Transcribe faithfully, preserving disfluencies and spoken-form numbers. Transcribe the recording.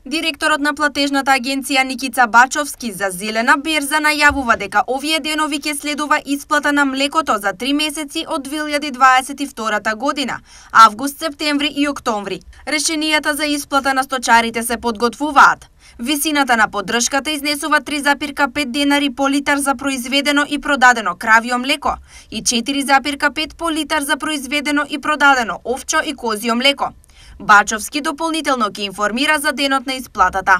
Директорот на платежната агенција Никица Бачовски за Зелена берза најавува дека овие денови ќе следува исплата на млекото за три месеци од две илјади дваесет и втора година, август, септември и октомври. Решенијата за исплата на сточарите се подготвуваат. Висината на поддршката изнесува три запирка пет денари по литар за произведено и продадено кравио млеко и четири запирка пет по литар за произведено и продадено овчо и козјо млеко. Бачовски дополнително ќе информира за денот на исплатата.